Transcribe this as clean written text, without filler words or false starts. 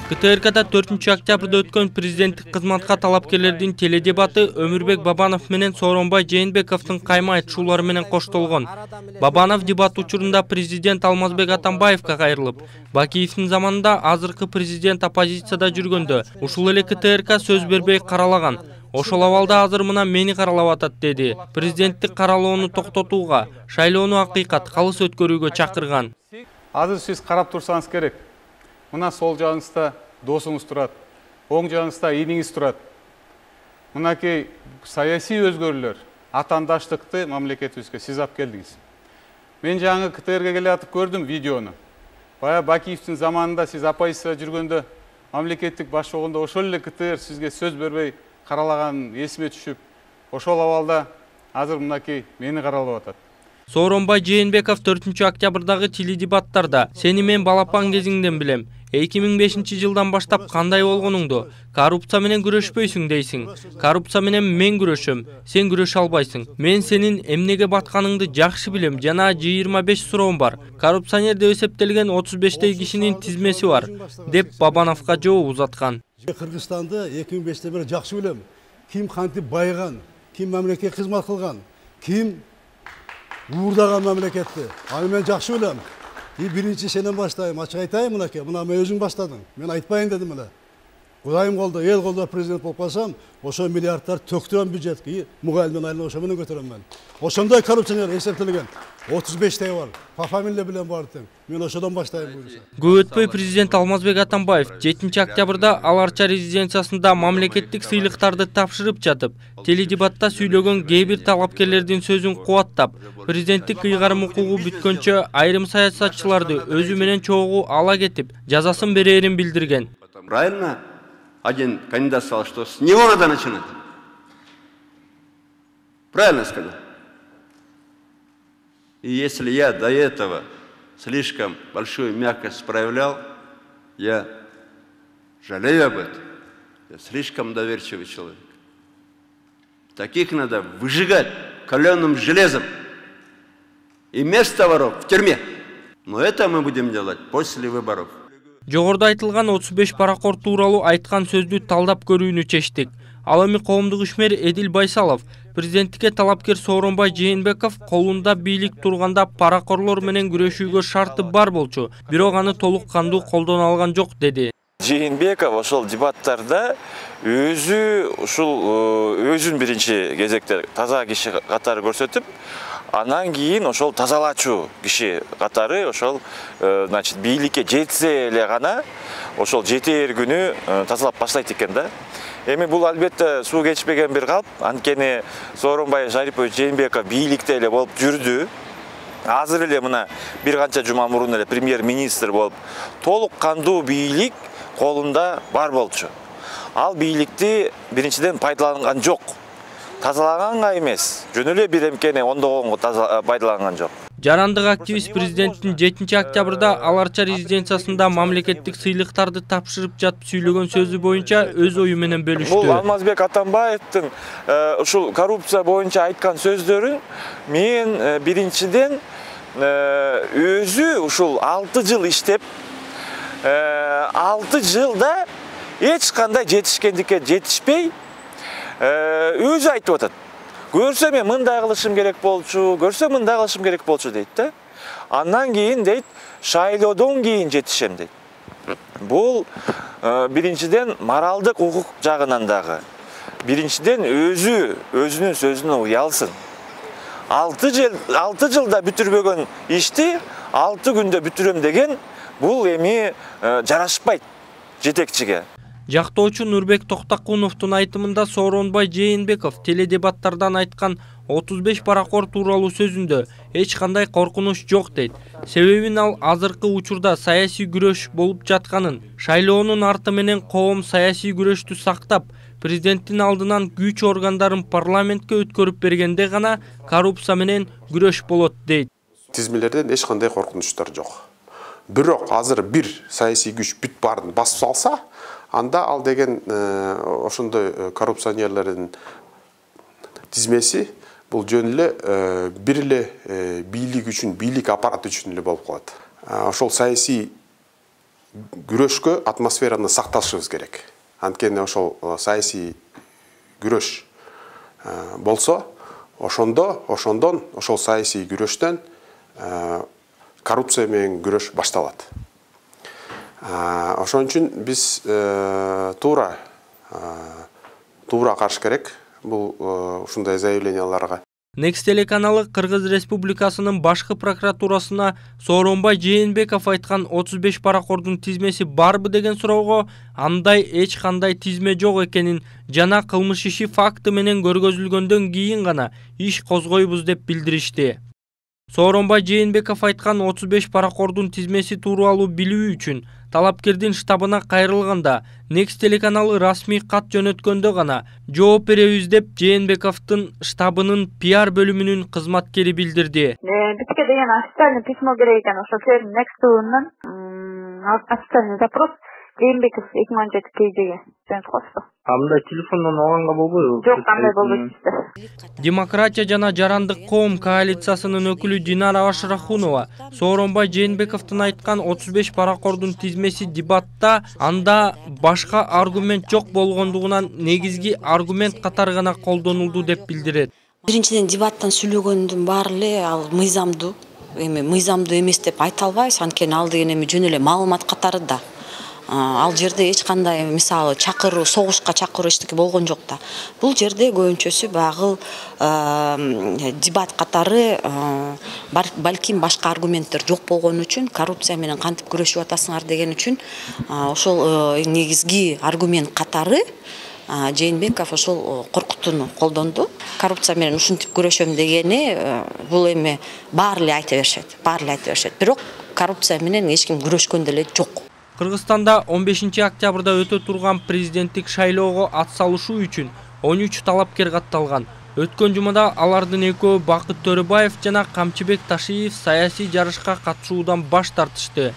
КТРКда 4-октябрда өткөн президенттик кызматка талапкерлердин теледебаты Өмүрбек Бабанов менен Сооронбай Жээнбековдун кайма айтышуулары менен коштолгон. Бабанов дебат учурунда президент Алмазбек Атамбаевга кайрылып, Бакиевдин заманында азыркы президент оппозицияда жүргөндө ушул эле КТРК сөз бербей каралаган. Ошол абалда азыр мына мени каралап атат деди. Президенттик каралоону токтотууга, шайлоону акыйкат, калыс өткөрүүгө чакырган. Азыр сиз карап турсаңыз керек. Мына сол жагыңызда досуңуз турат, оң жагыңызда иниңиз турат. Мынакей саясий өзгөрүүлөр, атаандаштыкты мамлекетибизге сиз алып келдиңиз. Мен жаңы КТРге келе атып көрдүм видеону. Бая Бакиевдин заманында сиз оппозицияда жүргөндө мамлекеттик баш болгондо ошол эле КТР сизге сөз бербей каралаган эсиме түшүп, ошол абалда азыр мынакей мени каралап атат. Сооронбай Жээнбеков 4-октябрдагы теледебаттарда "Сени мен балапан кезиңден билем. 2005 жылдан баштап кандай болгонуңду, коррупция менен күрөшпөйсүң дейсиң. Коррупция менен мен күрөшөм, сен күрөшө албайсың. Мен сенин эмнеге батканыңды жакшы билем. Жана 25 суроом бар. Коррупционер деп эсептелген 35 кишинин тизмеси бар", деп Бабановго жооп узаткан. Кыргызстанды 2005-те бери жакшы билем. Ким кантип байыган, ким мамлекетке кызмат кылган, ким уурдаган мамлекетти. Аны мен жакшы билем. Биринчи сенен баштайм, ачык айтайын мынакей. Мына мен өзүң баштадың. Мен айтпайын дедим эле. Кудайым колдо, эл колдо президент болуп калсам, ошо миллиардтар төктүрөм бюджетке, мугалимдин айлыгын ошо менен көтөрөм мен. Ошондой коррупционер эсептелген 35 бар. Фамилия билен бар тең. Мен ошодон баштайм буюрса. Көп өтпөй президент Алмазбек Атамбаев 7-октябрда Аларча резиденциясында мамлекеттик сыйлыктарды тапшырып жатып, теледебатта сүйлөгөн кээ бир талапкерлердин сөзүн кубаттап, президенттик ыйгарым укугу бүткөнчө айрым саясатчыларды өзү менен чогуу ала кетип, жазасын берерин билдирген. Правильно? Один кандидат сказал, что с него надо начинать. Правильно сказал? И если я до этого слишком большую мягкость проявлял, я жалею об этом. Я слишком доверчивый человек. Таких надо выжигать каленым железом. И место воров в тюрьме. Но это мы будем делать после выборов. Жогоруда айтылган 35 паракор тууралуу айткан сөздү талдап көрүүнү чечтик. Ал эми коомдук ишмер Эдил Байсалов президенттикке талапкер Сооронбай Жээнбеков колунда бийлик турганда паракорлор менен күрөшүүгө шарты бар болчу, бирок аны толук кандуу колдоно алган жок деди. Жээнбеков ошол дебаттарда өзүн биринчи кезекте таза киши катары көрсөтүп, анан кийин ошол тазалачу киши катары ошол значит бийликке жетсе эле гана ошол жетээр күнү тазалап баштайт экен да. Эми бул албетте суу кечпеген бир калп, анткени Сооронбай Шарипович Жээнбеков бийликте эле болуп жүрдү. Азыр эле мына бир канча жума мурун эле премьер-министр болуп, толук кандуу бийлик колунда бар болчу. Ал бийликти биринчиден пайдаланган жок. Тазалаганга эмес, жөн эле бир эмкени ондогонго пайдаланган жок. Жарандык активист президенттин 7-октябрда Аларча резиденциясында мамлекеттик сыйлыктарды тапшырып жатып сүйлөгөн сөзү боюнча өз ою менен бөлүштү. Бул Алмазбек Атамбаевдин ушул коррупция боюнча айткан сөздөрүн мен биринчиден өзү ушул 6 жыл иштеп, 6 жылда эч кандай жетишкендикке жетишпей өзү айтып атат. Көрсөм мен мындай кылышым керек болчу, көрсөм мындай кылышым керек болчу дейт да. Андан кийин дейт, шайлоодон кийин жетишем дейт. Бул биринчиден моралдык укук жагынан дагы. Биринчиден өзүнүн сөзүнө уялсын. 6 жылда бүтүрбөгөн ишти 6 күндө бүтүрөм деген бул эми жарашпайт жетекчиге. Жактоочу Нурбек Токтакуновдун айтымында Сооронбай Жээнбеков теледебаттардан айткан 35 паракор тууралуу сөзүндө эч кандай коркунуч жок дейт. Себебин ал азыркы учурда саясий күрөш болуп жатканын, шайлоонун арты менен коом саясий күрөштү сактап, президенттин алдынан күч органдарын парламентке өткөрүп бергенде гана коррупция менен күрөш болот дейт. Тизмелерден эч кандай коркунучтар жок. Бирок азыр бир саясий күч бүт баарын басып салса, анда ал деген ошондой коррупционерлердин тизмеси бул жөн эле бир эле бийлик үчүн, бийлик аппарат үчүн эле болуп калат. Ошол саясий күрөшкө атмосфераны сакташыбыз керек. Анткени ошол саясий күрөш болсо, ошондон ошол саясий күрөштөн коррупция менен күрөш башталат. Ошон үчүн биз туура караш керек бул ушундай заявленияларга. Next телеканалы Кыргыз Республикасынын башкы прокуратурасына Сооронбай Жээнбеков айткан 35 паракордун тизмеси барбы деген суроого андай эч кандай тизме жок экенин жана кылмыш иши факты менен көргөзүлгөндөн кийин гана иш козгойбуз деп билдиришти. Сооронбай Жээнбеков айткан 35 паракордун тизмеси тууралуу билүү үчүн талапкердин штабына кайрылганда Next телеканалы расмий кат жөнөткөндө гана жооп беребиз деп Жээнбековдун штабынын пиар бөлүмүнүн кызматкери билдирди. Бизге деген официальный письмо керек экен, ошо Next ТВнын официальный запрос Жээнбеков 2017 KGге жөнөтүп коюшту. Андай телефондон алганга болбойбу? Жок, андай болбойт. Демократия жана жарандык коом коалициясынын өкүлү Динара Ашрахунова Сооронбай Жээнбековдун айткан 35 паракордун тизмеси дебатта анда башка аргумент жок болгондугунан негизги аргумент катары гана колдонулду деп билдирет. Биринчиден дебаттан сүйлөгөндүн баары эле ал мыйзамдуу эмес деп айта албайбыз, анткени ал деген эми жөн эле маалымат катары да. Ал жерде эч кандай мисалы чакыруу, согушка чакыруу эчтеке болгон жок да. Бул жерде көбүнчөсү багыл дебат катары балким башка аргументтер жок болгон үчүн, коррупция менен кантип күрөшүп атасыңар деген үчүн ошол негизги аргумент катары Жээнбеков ошол коркутууну колдонду. Коррупция менен ушинтип күрөшөм дегени бул эми баары эле айта беришет. Бирок коррупция менен эч ким күрөшкөн деле жок. Кыргызстанда 15 октябрда өтө турган президенттик шайлоого атсалышуу үчүн 13 талапкер катталган. Өткөн жумада алардын экөө Бакыт Төрөбаев жана Камчыбек Ташиев саясий жарышка катышуудан баш тартышты.